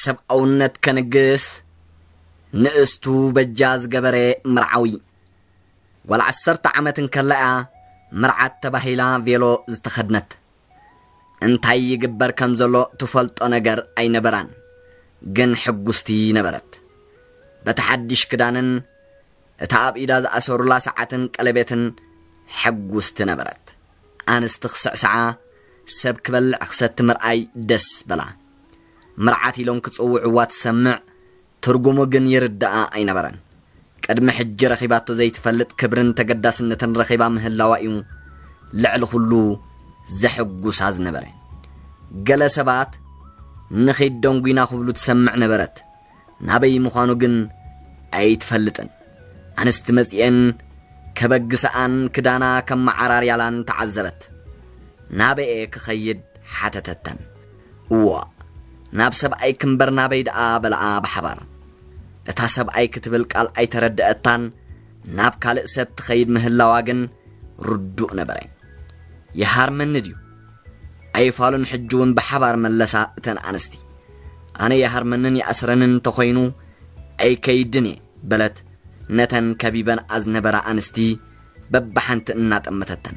ሰብኣውነት ከንግስ ንእስቱ በጃ ዝገበረ መርዓዊ። ጓል ዓሰርተ ዓመት እንከላ እያ መርዓት ተባሂላ ቬሎ ዝተኸድነት። እንታይ ይግበር ከም ዘሎ ትፈልጦ ነገር ኣይነበራን፣ ግን ሕጉስቲ ነበረት። በቲ ሓድሽ ክዳንን እታ ኣብ ኢዳ ዝኣሰሩላ ሰዓትን ቀለቤትን ሕጉስቲ ነበረት። ኣንስቲ ክስዕስዓ፣ ሰብ ክበልዕ ክሰቲ ምርኣይ ደስ በላ። መርዓት ኢሎም ክጽውዕዋ ትሰምዕ፣ ትርጉሙ ግን ይርድኣ ኣይነበረን። ቅድሚ ሕጂ ረኺባቶ ዘይትፈልጥ ክብርን ተገዳስነትን ረኺባ ምህላዋ እዩ ልዕሊ ኩሉ ዘሕጉሳ ዝነበረ። ገለ ሰባት ንኺድ ደንጉይና ክብሉ ትሰምዕ ነበረት። ናበይ ምዃኑ ግን ኣይትፈልጥን። ኣንስቲ መጺኤን ከበግስኣን ክዳና ከመዓራርያላን ተዓዘበት። ናበኤ ክኸይድ ሓተተተን። እዋ፣ ናብ ሰብኣይ ክምበር ናበይ ደኣ በለኣ ብሓባር። እታ ሰብኣይ ክትብል ቃል ኣይተረድኣታን፣ ናብ ካልእ ሰብ ትኸይድ ምህላዋ ግን ርዱእ ነበረ። ይሃርመኒ ድዩ? ኣይፋሉን ሕጂ እውን ብሓባር መለሳ እተን ኣንስቲ። ኣነ ይሃርመንን ይኣስረንን እንተኾይኑ ኣይከይድን እየ በለት። ነተን ከቢበን ኣዝነበራ ኣንስቲ በብሓንቲ እናጠመተተን።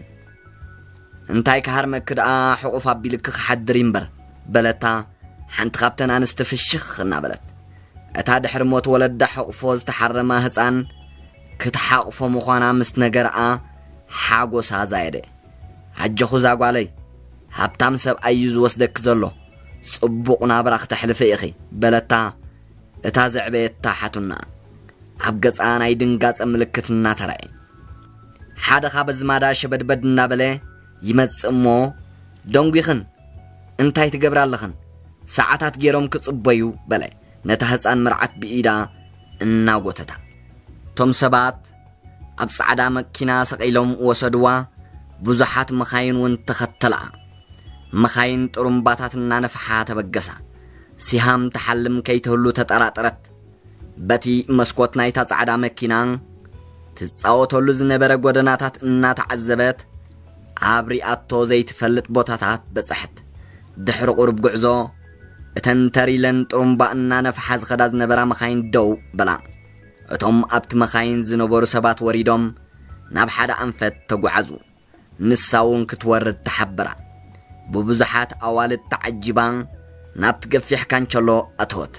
እንታይ ክሃርመኪ ደኣ ሕቑፍ ኣቢልኪ ክሓድር እምበር በለታ ሓንቲ ካብተን ኣንስቲ ፍሽኽ እናበለት። እታ ድሕሪ ሞት ወለዳ ሕቑፎ ዝተሓረማ ህፃን ክትሓቑፎ ምዃና ምስ ነገርኣ ሓጎሳ ዛየደ። ኣጆኹ እዛ ጓለይ፣ ሃብታም ሰብኣይ እዩ ዝወስደኪ ዘሎ፣ ጽቡቕ ናብራ ክተሕልፊ ኢኺ በለታ። እታ ዘዕበየታ ሓቱና ኣብ ገጻ ናይ ድንጋጸ ምልክት እናተራእየ። ሓደ ካብ ኣዝማዳ ሸበድበድ እናበለ ይመጽእ እሞ፣ ደንጒኽን እንታይ ትገብራ ኣለኽን? ሰዓታት ገይሮም ክጽበዩ በለ ነታ ህጻን መርዓት ብኢዳ እናጎተታ። እቶም ሰባት ኣብ ጻዕዳ መኪና ሰቒሎም ወሰድዋ። ብዙሓት መኻይን እውን ተኸተልኣ። መኻይን ጥሩምባታት እናነፍሓ ተበገሳ። ሲሃም ትሓልም ከይትህሉ ተጠራጠረት። በቲ መስኮት ናይታ ጻዕዳ መኪና ትጻወተሉ ዝነበረ ጎደናታት እናተዓዘበት ኣብ ሪኣቶ ዘይትፈልጥ ቦታታት በጻሐት። ድሕሪ ቁሩብ ጉዕዞ እተን ተር ኢለን ጥሩምባ እናነፍሓ ዝኸዳ ዝነበራ መኻይን ደው በላ። እቶም ኣብቲ መኻይን ዝነበሩ ሰባት ወሪዶም ናብ ሓደ ኣንፈት ተጓዓዙ። ንሳ እውን ክትወርድ ተሓብራ። ብብዙሓት ኣዋልድ ተዓጂባ ናብቲ ገፊሕ ካንቸሎ ኣተወት።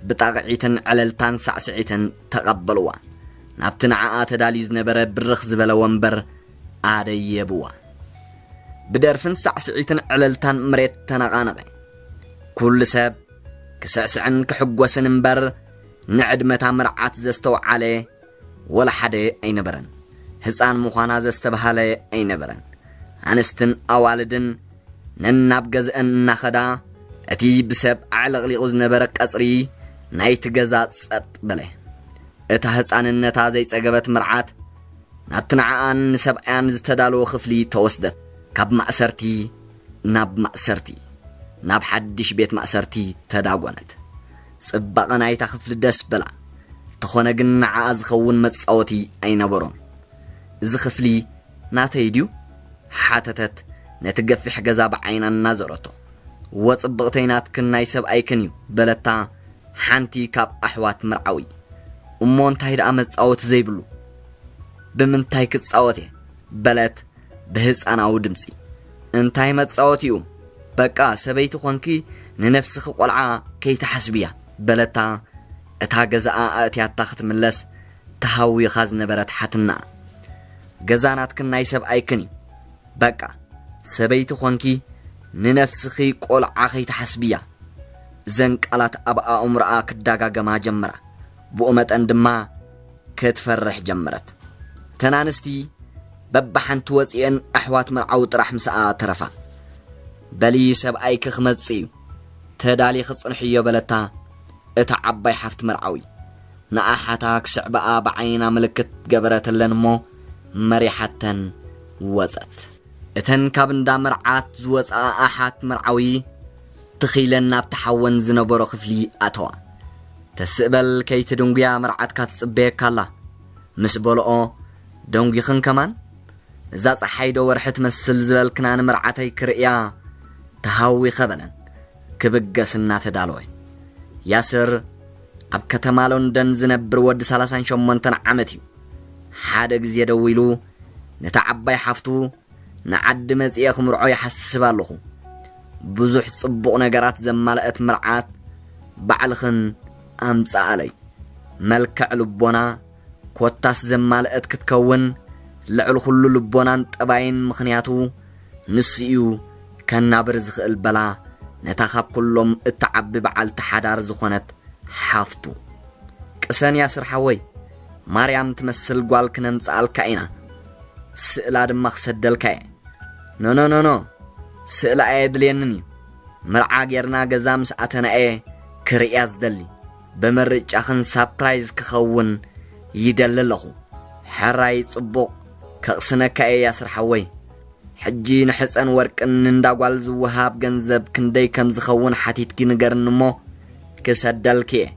ብጣቕዒትን ዕለልታን ሳዕስዒትን ተቐበልዋ። ናብቲ ንዓኣ ተዳልዩ ዝነበረ ብርኽ ዝበለ ወንበር ኣደየብዋ። ብደርፍን ሳዕስዒትን ዕለልታን መሬት ተነቓነቐ። ኩሉ ሰብ ክስዕስዕን ክሕጎስን እምበር ንዕድመታ መርዓት ዘስተውዓለ ወላ ሓደ ኣይነበረን። ህፃን ምዃና ዘስተብሃለ ኣይነበረን። ኣንስትን ኣዋልድን ነናብ ገዝአን እናኸዳ እቲ ብሰብ ኣዕለቕሊቑ ዝነበረ ቀፅሪ ናይቲ ገዛ ጸጥ በለ። እታ ህፃንነታ ዘይጸገበት መርዓት ናብቲ ንዓኣን ንሰብኣያን ዝተዳለወ ክፍሊ ተወስደት። ካብ ማእሰርቲ ናብ ማእሰርቲ፣ ናብ ሓድሽ ቤት ማእሰርቲ ተዳጎነት። ጽባቐ ናይታ ክፍሊ ደስ በላ። እንተኾነ ግን ንዓኣ ዝኸውን መጻወቲ ኣይነበሮን። "እዚ ክፍሊ ናተይ ድዩ?" ሓተተት ነቲ ገፊሕ ገዛ ብዓይና እናዞረቶ። "እወ ጽብቕተይ ናትክን ናይ ሰብኣይክን እዩ" በለታ ሓንቲ ካብ ኣሕዋት መርዓዊ። "እሞ እንታይ ደኣ መጻወቲ ዘይብሉ? ብምንታይ ክጻወት እየ?" በለት ብህፃናዊ ድምፂ። "እንታይ መፃወቲኡ? በቃ ሰበይቲ ኾንኪ ንነፍስኺ ቆልዓ ከይትሓስብያ" በለታ። እታ ገዛኣ ኣእትያታ ክትምለስ ተሃዊኻ ዝነበረት ሓትና። "ገዛ ናትክን ናይ ሰብኣይክን እዩ። በቃ ሰበይቲ ኾንኪ ንነፍስኺ ቆልዓ ከይትሓስብያ" እዘን ቃላት ኣብ ኣእምሮኣ ክዳጋገማ ጀመራ። ብኡ መጠን ድማ ክትፈርሕ ጀመረት። እተን ኣንስቲ በብሓንቲ ወፂኤን ኣሕዋት መርዓዊ ጥራሕ ምስኣ ተረፋ። "በሊ ሰብኣይኪ ክመፅእ እዩ፣ ተዳሊኺ ፅንሕዮ" በለታ እታ ዓባይ ሓፍቲ መርዓዊ። ንኣሓታ ክስዕባኣ ብዓይና ምልክት ገበረትለን እሞ መሪሓተን ወፀት። እተን ካብ እንዳ መርዓት ዝወፅኣ ኣሓት መርዓዊ ትኺለን ናብቲ ሓወን ዝነበሮ ክፍሊ ኣተዋ። "ተስእ በል ከይትድንጉያ መርዓትካ ትፅበየካ ኣላ" ምስ በልኦ፣ "ደንጒኽን ከማን? እዛ ፀሓይ ዶ ወርሒ ትመስል ዝበልክና ንመርዓተይ ክርእያ ተሃዊኸ" በለን ክብገስ እናተዳለወ። ያስር ኣብ ከተማ ሎንደን ዝነብር ወዲ ሰላሳን ሸሞንተን ዓመት እዩ። ሓደ ግዜ ደዊሉ ነታ ዓባይ ሓፍቱ ንዓዲ መጺኤ ክምርዖ ይሓስብ ኣለኹ። ብዙሕ ጽቡቕ ነገራት ዘማልአት መርዓት ባዕልኽን ኣምጽኣለይ። መልክዕ ልቦና ኮታስ ዘማልአት ክትከውን ልዕሊ ኩሉ ልቦናን ጠባይን፣ ምኽንያቱ ንሱ እዩ ከናብር ዝኽእል በላ ነታ ካብ ኩሎም እትዓቢ በዓልቲ ሓዳር ዝኾነት ሓፍቱ። ቅሰን ያስር ሓወይ፣ ማርያም ትመስል ጓል ክነምጽኣልካ ኢና፣ ስእላ ድማ ክሰደልካ እየ። ኖኖ ኖኖ፣ ስእላ ኣየድልየንን እዩ። መርዓ ጌርና ገዛ ምስ ኣተናኤ ክርእያ ዝደሊ፣ ብምርጫኽን ሳፕራይዝ ክኸውን ይደሊ ኣለኹ። ሕራይ ጽቡቕ፣ ከቕስነካ እየ ያስር ሓወይ። ሕጂ ንሕፀን ወርቅን ንእንዳ ጓል ዝወሃብ ገንዘብ ክንደይ ከም ዝኸውን ሓቲትኪ ንገርኒ እሞ ክሰደልኪ እየ።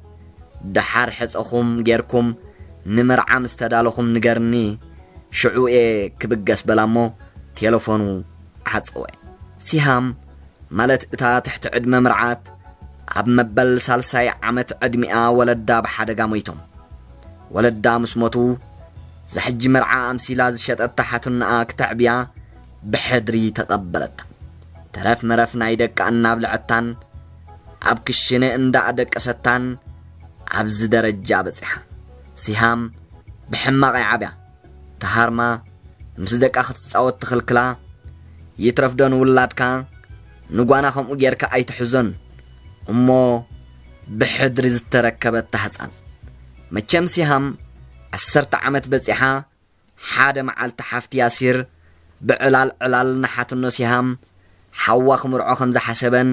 ደሓር ሕፀኹም ጌርኩም ንመርዓ ምስ ተዳለኹም ንገርኒ፣ ሽዑ እየ ክብገስ በላ እሞ ቴለፎኑ ዓፀወ። ሲሃም ማለት እታ ትሕቲ ዕድመ መርዓት ኣብ መበል ሳልሳይ ዓመት ዕድሚኣ ወለዳ ብሓደጋ ሞይቶም። ወለዳ ምስ ሞቱ ዝሕጂ መርዓ ኣምሲላ ዝሸጠታ ሓትንኣ ክተዕብያ ብሕድሪ ተቐበለታ። ተረፍ መረፍ ናይ ደቃ እናብልዐታን ኣብ ክሽነ እንዳኣደቀሰታን ኣብዚ ደረጃ በጺሓ። ሲሃም ብሕማቕ ይዓብያ። ተሃርማ ምስ ደቃ ክትጻወት ትኽልክላ። ይትረፍዶ ንውላድካ ንጓና ከምኡ ጌርካ ኣይትሕዞን። እሞ ብሕድሪ ዝተረከበታ ህፃን። መቸም ሲሃም ዓሰርተ ዓመት በጺሓ። ሓደ መዓልቲ ሓፍቲ ያሲር ብዕላል ዕላል ንሓትኖ ሲሃም ሓዋ ክምርዖ ከም ዝሓሰበን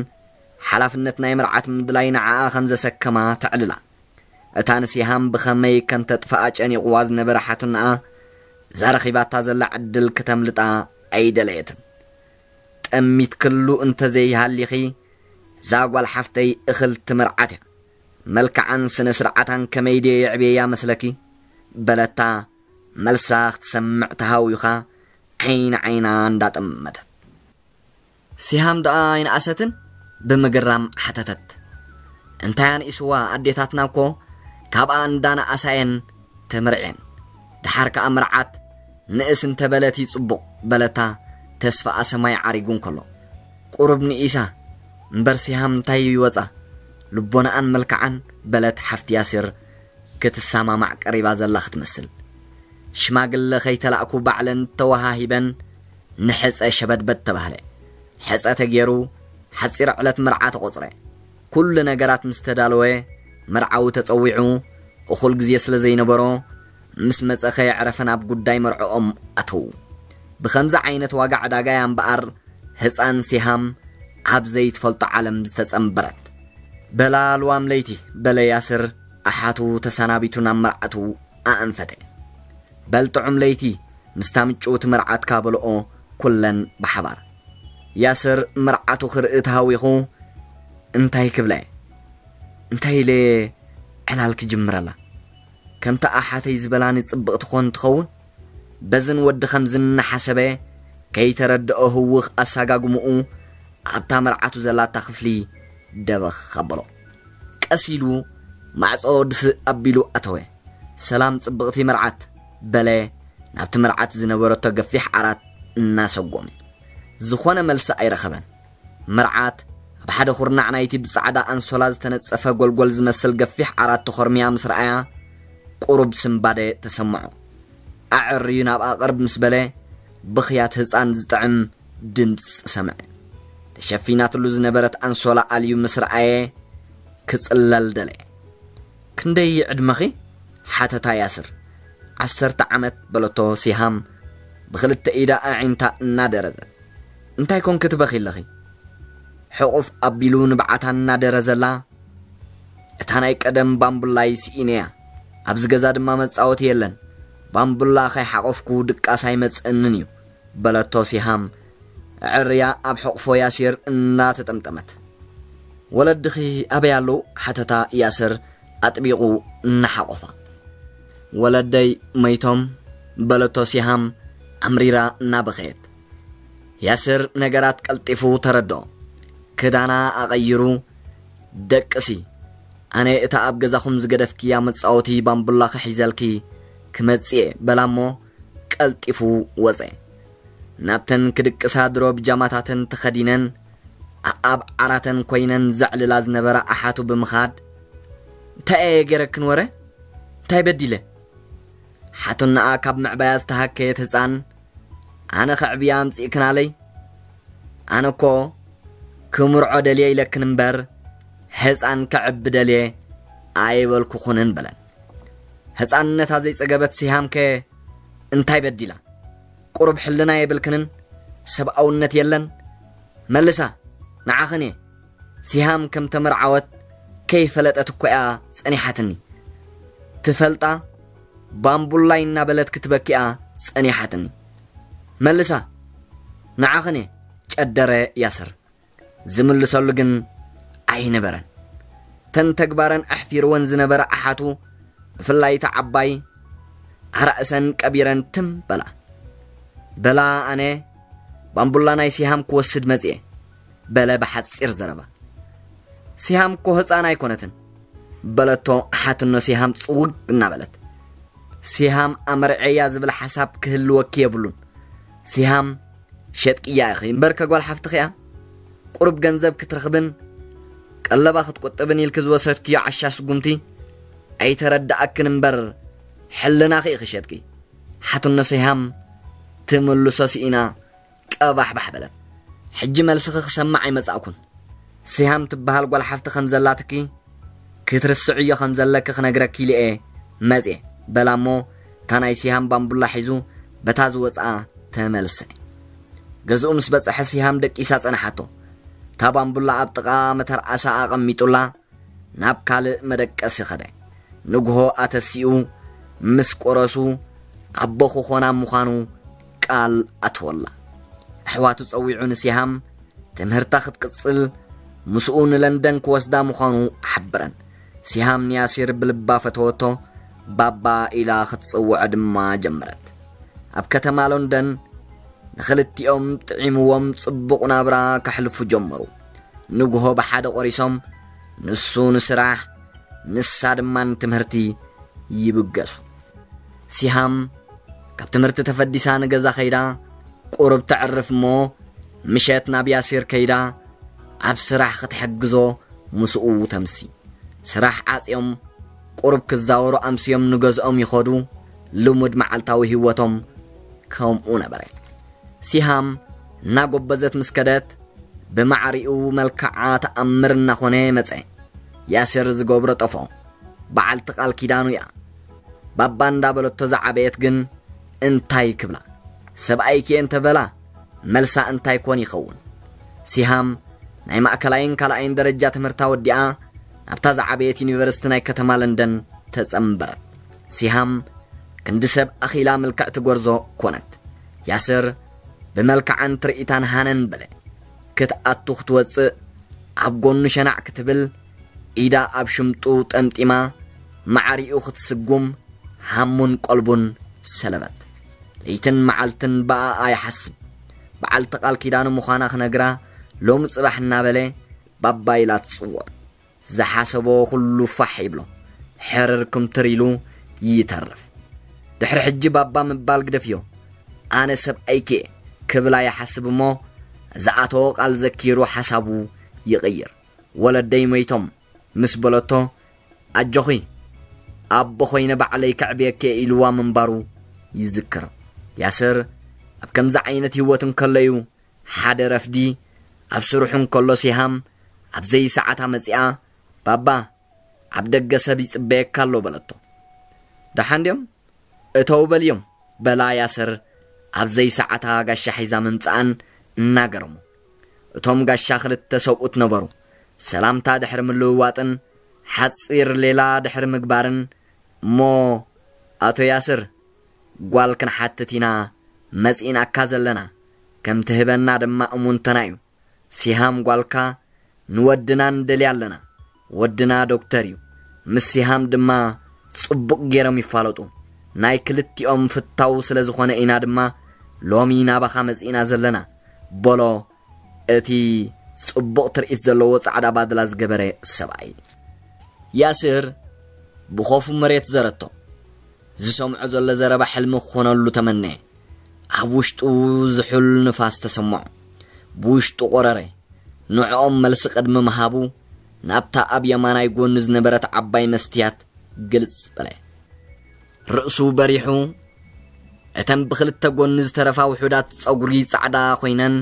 ሓላፍነት ናይ መርዓት ምድላይ ንዓኣ ከም ዘሰከማ ተዕልላ። እታ ንሲሃም ብኸመይ ከም ተጥፍኣ ጨኒቕዋ ዝነበረ ሓትኖኣ፣ እዛ ረኺባታ ዘላ ዕድል ክተምልጣ ኣይደለየትን። ጠሚት ክሉ እንተዘይሃሊኺ፣ እዛ ጓል ሓፍተይ እኽልቲ መርዓት እያ። መልክዓን ስነ ስርዓታን ከመይ ድየ የዕብየያ መስለኪ? በለታ መልሳ ክትሰምዕ ተሃዊኻ ዓይኒ ዓይና እንዳጠመተት። ሲሃም ደኣ ኣይነኣሰትን ብምግራም ሓተተት። እንታይ ኣንኢስዋ፣ ኣዴታትና እኮ ካብኣ እንዳነኣሳ እየን ተመርዕየን። ደሓር ከኣ መርዓት ንእስ እንተበለት እዩ ጽቡቕ በለታ ተስፋኣ ሰማይ ዓሪጉ እንከሎ። ቁሩብ ንኢሳ እምበር ሲሃም እንታይ ይወጻ? ልቦናኣን መልክዓን በለት ሓፍቲ ያሲር ክትሰማማዕ ቀሪባ ዘላ ክትመስል። ሽማግለ ከይተላእኩ ባዕለን ተወሃሂበን ንሕፀ ሸበድበድ ተባህለ። ሕፀ ተገይሩ ሓፂር ዕለት መርዓ ተቖፅረ። ኩሉ ነገራት ምስ ተዳለወ መርዓዊ ተፀዊዑ እኹል ግዜ ስለ ዘይነበሮ ምስ መፀ ከየዕረፈ ናብ ጉዳይ መርዕኦም ኣተዉ። ብኸምዚ ዓይነት ዋጋ ዕዳጋ እያ እምበኣር ህፃን ሲሃም ኣብ ዘይትፈልጦ ዓለም ዝተጸንበረት። በላ ልዋም ለይቲ በለ ያስር ኣሓቱ ተሰናቢቱ ናብ መርዓቱ ኣእንፈተ። በል ጥዑም ለይቲ ምስታ ምጭውቲ መርዓትካ በልኦ ኩለን ብሓባር። ያስር መርዓቱ ክርኢ ተሃዊኹ እንታይ ክብለ እንታይ ኢለ ዕላል ክጅምረላ። ከምታ ኣሓተይ ዝበላኒ ጽብቕቲ ኮን ትኸውን። በዝን ወዲ ከምዝን እናሓሰበ ከይተረድኦ ህውኽ ኣሳጋግምኡ ኣብታ መርዓቱ ዘላታ ክፍሊ ደበኽ ኣበሎ። ቀስ ኢሉ ማዕጾ ድፍእ ኣቢሉ ኣተወ። ሰላም ጽብቕቲ መርዓት በለ ናብቲ መርዓት ዝነበረቶ ገፊሕ ዓራት እናሰጎመ። ዝኾነ መልሲ ኣይረኸበን። መርዓት ኣብ ሓደ ኩርናዕ ናይቲ ብጻዕዳ ኣንሶላ ዝተነጸፈ ጎልጎል ዝመስል ገፊሕ ዓራት ተኾርምያ ምስ ረኣያ ቁሩብ ስምባደ ተሰምዖ። ኣዕርዩ ናብኣ ቅርብ ምስ በለ ብኽያት ህጻን ዝጥዕም ድምጺ ሰምዐ። ተሸፊናትሉ ዝነበረት ኣንሶላ ኣልዩ ምስ ረኣየ ክጽለል ደለየ። ክንደይ ዕድመኺ? ሓተታ ያስር። ዓሰርተ ዓመት በለቶ ሲሃም ብኽልተ ኢዳ ኣዒንታ እናደረዘት። እንታይ ኮንኪ ትበኺ ኣለኺ? ሕቑፍ ኣቢሉ ንብዓታ እናደረዘላ። እታ ናይ ቀደም ባምቡላይ ስኢነያ። ኣብዚ ገዛ ድማ መጻወቲ የለን። ባምቡላ ከይሓቖፍኩ ድቃስ ኣይመጽእንን እዩ በለቶ ሲሃም ዕርያ ኣብ ሕቑፎ ያሲር እናተጠምጠመት። ወለድኺ ኣበይ ኣለዉ? ሓተታ ያስር ኣጥቢቑ እናሓቖፋ። ወለደይ መይቶም በለቶ ሲሃም ኣምሪራ እናበኸየት። ያስር ነገራት ቀልጢፉ ተረድኦ። ክዳና ኣቐይሩ ደቅሲ ኣነ እታ ኣብ ገዛኹም ዝገደፍክያ መጻወቲ ባምቡላኺ ሒዘልኪ ክመጽእ እየ በላ እሞ ቀልጢፉ ወጸ። ናብተን ክድቅሳ ድሮ ብጃማታተን ተኸዲነን ኣኣብ ዓራተን ኮይነን ዘዕልላ ዝነበራ ኣሓቱ ብምኻድ፣ እንታይ እየ ገይረክን ወረ? እንታይ በዲለ? ሓቱናኣ ካብ ምዕባያ ዝተሃከየት ህፃን ኣነ ከዕብያ ኣምፂእክናለይ? ኣነ እኮ ክምርዖ ደልየ ኢለክን እምበር ህፃን ከዕቢ ደልየ ኣይበልኩኹንን በለን። ህፃንነታ ዘይፀገበት ሲሃምከ እንታይ በዲላ? ቁሩብ ሕልና የብልክንን? ሰብኣውነት የለን? መልሳ፣ ንዓኽን እየ። ሲሃም ከም ተመርዓወት ከይፈለጠት እኮ እያ ጸኒሓትኒ። ትፈልጣ ባምቡላይ እናበለት ክትበኪኣ ጸኒሓትኒ። መልሳ፣ ንዓኽን እየ፣ ጨደረ ያስር። ዝምልሰሉ ግን ኣይነበረን። ተን ተግባረን ኣሕፊርወን ዝነበረ ኣሓቱ፣ ብፍላይ እታ ዓባይ፣ ኣራእሰን ቀቢረን ትም በላ። በላ ኣነ ባምቡላ ናይ ሲሃም ክወስድ መጽየ፣ በለ ብሓጺር ዘረባ። ሲሃም እኮ ህፃን ኣይኮነትን፣ በለቶ ሓትኖ ሲሃም ጽውግ እናበለት። ሲሃም ኣመርዐያ ዝብል ሓሳብ ክህልወኪ የብሉን። ሲሃም ሸጥቅያ ኢኺ እምበር ከጓል ሓፍትኺ እያ። ቁሩብ ገንዘብ ክትረኽብን ቀለባ ክትቁጥብን ኢልኪ ዝወሰድክዮ ዓሻ ስጉምቲ ኣይተረድኣክን እምበር ሕልናኺ ኢኺ ሸጥቂ። ሓትኖ ሲሃም ትምልሶ ስኢና ቀባሕባሕ በለት። ሕጂ መልስኺ ክሰማዕ ኣይመጻእኩን። ሲሃም ትበሃል ጓል ሓፍቲ ከም ዘላትኪ ክትርስዕዮ ከም ዘለኪ ክነግረኪ ኢለ እየ መጽየ፣ በላ እሞ እታ ናይ ሲሃም ባምቡላ ሒዙ በታ ዝወጽኣ ተመልሰ። ገዝኡ ምስ በጽሐ ሲሃም ደቂሳ ጸንሓቶ። እታ ባምቡላ ኣብ ጥቓ መተርኣሳ ኣቐሚጡላ ናብ ካልእ መደቀሲ ኸደ። ንግሆ ኣተሲኡ ምስ ቆረሱ ኣቦ ክኾና ምዃኑ ቃል ኣትወላ። ኣሕዋቱ ጸዊዑ ንሲሃም ትምህርታ ክትቅጽል ምስኡ ንለንደን ክወስዳ ምዃኑ ሓበረን። ሲሃም ንያሲር ብልባ ፈተወቶ፣ ባባ ኢላ ክትጽውዖ ድማ ጀመረት። ኣብ ከተማ ሎንደን ንኽልቲኦም ጥዒምዎም ጽቡቕ ናብራ ከሕልፉ ጀመሩ። ንግሆ ብሓደ ቆሪሶም ንሱ ንስራሕ ንሳ ድማ ንትምህርቲ ይብገሱ። ሲሃም ካብ ትምህርቲ ተፈዲሳ ንገዛ ኸይዳ ቁሩብ ተዕርፍ እሞ ምሸት ናብ ያሲር ከይዳ ኣብ ስራሕ ክትሕግዞ ምስኡ ተምሲ። ስራሕ ዓጽዮም ቁሩብ ክዛወሩ ኣምስዮም ንገዝኦም ይኸዱ። ልሙድ መዓልታዊ ህይወቶም ከምኡ ነበረ። ሲሃም እናጎበዘት ምስ ከደት ብማዕሪኡ መልክዓ ተኣምር እናኾነ መጸ። ያሲር ዝገብሮ ጠፍኦ። በዓልቲ ቃል ኪዳኑ እያ። ባባ እንዳበለቶ ዝዓበየት ግን እንታይ ክብላ? ሰብኣይኪ እየ እንተበላ መልሳ እንታይ ኮን ይኸውን? ሲሃም ናይ ማእከላይን ካልኣይን ደረጃ ትምህርታ ወዲኣ ናብታ ዝዓበየት ዩኒቨርሲቲ ናይ ከተማ ለንደን ተጸንበረት። ሲሃም ክንዲ ሰብ ኣኺላ ምልክዕቲ ጎርዞ ኮነት። ያስር ብመልክዓን ትርኢታን ሃነን በለ። ክትኣቱ ክትወጽእ ኣብ ጎኑ ሸናዕ ክትብል ኢዳ ኣብ ሽምጡ ጠምጢማ ማዕሪኡ ክትስጉም ሃሙን ቀልቡን ሰለበት። ለይትን መዓልትን ብኣኣ ይሓስብ። በዓልቲ ቃል ኪዳኑ ምዃና ክነግራ ሎም ጽባሕ እናበለ ባባ ኢላ ትጽውዖ። ዝሓሰቦ ኩሉ ፋሕ ይብሎ። ሕርር ክምትር ኢሉ ይተርፍ። ድሕሪ ሕጂ ባባ ምባል ግደፍዮ። ኣነ ሰብኣይኪ እየ ክብላ ይሓስብ እሞ ዝኣተዎ ቃል ዘኪሩ ሓሳቡ ይቕይር። ወለደይ ሞይቶም ምስ በለቶ ኣጆኺ ኣቦ ኾይነ ባዕለይ ከዕብየኪ እየ ኢልዋ ምንባሩ ይዝክር። ያስር ኣብ ከምዚ ዓይነት ህይወት እንከለዩ ሓደ ረፍዲ ኣብ ስርሑ እንከሎ ሲሃም ኣብ ዘይሰዓታ መጺኣ ባባ ኣብ ደገ ሰብ ይጽበየካ ኣሎ በለቶ። ደሓን ድዮም? እተው በልዮም በላ ያስር ኣብ ዘይሰዓታ ጋሻ ሒዛ ምምጽኣን እናገረሙ። እቶም ጋሻ ክልተ ሰብኡት ነበሩ። ሰላምታ ድሕሪ ምልውዋጥን ሓጺር ሌላ ድሕሪ ምግባርን እሞ ኣቶ ያስር ጓል ክንሓትት ኢና መጺእናካ ዘለና ከም ትህበና ድማ እሙንትና እዩ። ሲሃም ጓልካ ንወድና ንደልያ ኣለና። ወድና ዶክተር እዩ። ምስ ሲሃም ድማ ጽቡቕ ገይሮም ይፋለጡ። ናይ ክልቲኦም ፍታው ስለ ዝኾነ ኢና ድማ ሎሚ ናባኻ መጺእና ዘለና በሎ እቲ ጽቡቕ ትርኢት ዘለዎ ጻዕዳ ባድላ ዝገበረ ሰብኣይ። ያስር ብኾፉ መሬት ዘረቶ። ዝሰምዖ ዘሎ ዘረባ ሕልሚ ክኾነሉ ተመነየ። ኣብ ውሽጡ ዝሑል ንፋስ ተሰምዖ። ብውሽጡ ቆረረ። ንዕኦም መልሲ ቅድሚ ምሃቡ፣ ናብታ ኣብ የማናይ ጎኑ ዝነበረት ዓባይ መስትያት ግልጽ በለ። ርእሱ በሪሑ፣ እተን ብኽልተ ጎኒ ዝተረፋ ውሑዳት ጸጉሪ ጻዕዳ ኮይነን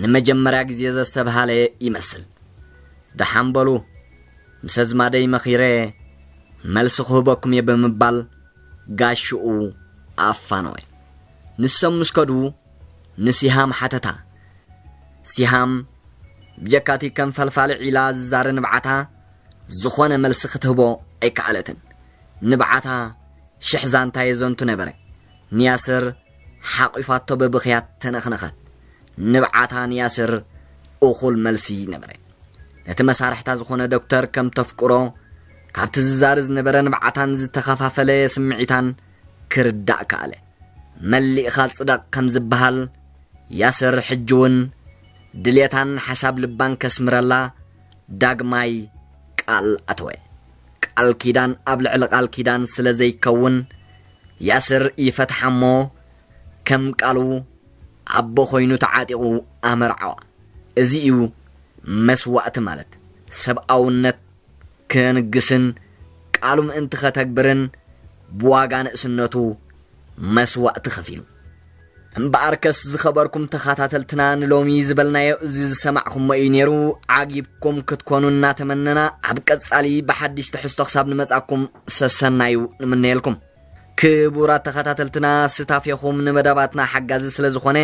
ንመጀመርያ ግዜ ዘስተብሃለ ይመስል። ደሓን በሉ፣ ምስ ኣዝማደይ መኺረ መልሲ ክህበኩም እየ ብምባል ጋሽኡ ኣፋነወ። ንሶም ምስ ከዱ ንሲሃም ሓተታ። ሲሃም ብጀካቲ ከም ፈልፋሊ ዒላ ዝዛረ ንብዓታ ዝኾነ መልሲ ክትህቦ ኣይከኣለትን። ንብዓታ ሽሕ ዛንታ የዘንቱ ነበረ። ንያስር ሓቒፋቶ ብብኽያት ተነኽነኸት። ንብዓታ ንያስር እኹል መልሲ ነበረ። ነቲ መሳርሕታ ዝኾነ ዶክተር ከም ተፍቅሮ ካብቲ ዝዛሪ ዝነበረ ንብዓታን ዝተኸፋፈለ ስምዒታን ክርዳእ ከኣለ። መሊእኻ ጽደቕ ከም ዝበሃል ያስር ሕጂ እውን ድሌታን ሓሳብ ልባን ከስምረላ ዳግማይ ቃል ኣተወ። ቃል ኪዳን ኣብ ልዕሊ ቃል ኪዳን ስለ ዘይከውን ያስር ይፈትሓ እሞ ከም ቃሉ ኣቦ ኮይኑ ተዓጢቑ ኣመርዓዋ። እዚ እዩ መስዋእቲ ማለት። ሰብኣውነት ከንግስን ቃሉ ምእንቲ ከተግብርን ብዋጋ ንእስነቱ መስዋእቲ ከፊሉ። እምበኣርከስ ዝኸበርኩም ተኸታተልትና ንሎሚ ዝበልናዮ እዚ ዝሰማዕኩሞ እዩ ነይሩ። ዓጊብኩም ክትኮኑ እናተመነና ኣብ ቀጻሊ ብሓድሽ ትሕዝቶ ክሳብ ንመጻኩም ሰሰናዩ ንምነየልኩም። ክቡራት ተኸታተልትና ስታፌኹም ንመደባትና ሓጋዚ ስለ ዝኾነ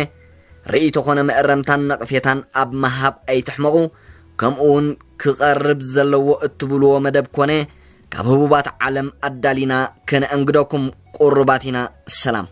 ርእይቶ ኮነ መእረምታን ነቕፌታን ኣብ ምሃብ ኣይትሕመቑ። ከምኡ እውን ክቐርብ ዘለዎ እትብልዎ መደብ ኮነ ካብ ህቡባት ዓለም ኣዳሊና ከነእንግደኩም ቁሩባት ኢና። ሰላም።